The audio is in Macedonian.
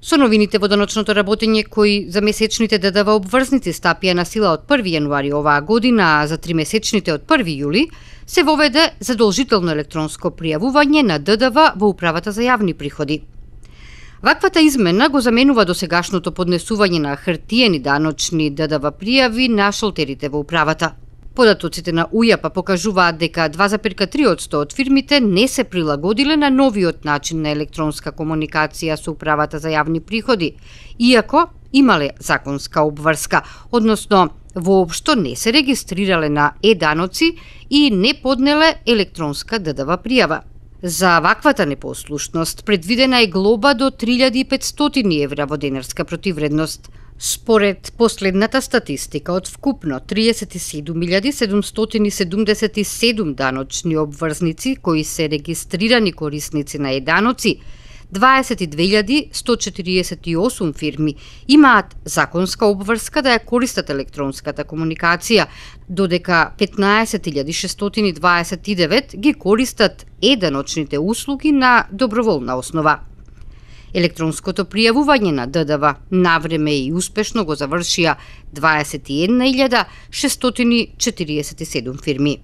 Со новините во даночното работење кои за месечните ДДВ обврзници стапија на сила од 1 јануари оваа година, а за 3-месечните од 1 јули, се воведе задолжително електронско пријавување на ДДВ во Управата за јавни приходи. Ваквата измена го заменува досегашното поднесување на хартиени даночни ДДВ пријави на шолтерите во управата. Податоците на УЈАП покажуваат дека 2,3% од фирмите не се прилагодиле на новиот начин на електронска комуникација со Управата за јавни приходи, иако имале законска обврска, односно воопшто не се регистрирале на е-даноци и не поднеле електронска ДДВ пријава. За ваквата непослушност предвидена е глоба до 3.500 евра во денарска противредност. Според последната статистика од вкупно 37.777 даночни обврзници кои се регистрирани корисници на е-даноци, 22.148 фирми имаат законска обврска да ја користат електронската комуникација, додека 15.629 ги користат е-даночните услуги на доброволна основа. Електронското пријавување на ДДВ навреме и успешно го завршија 21.647 фирми.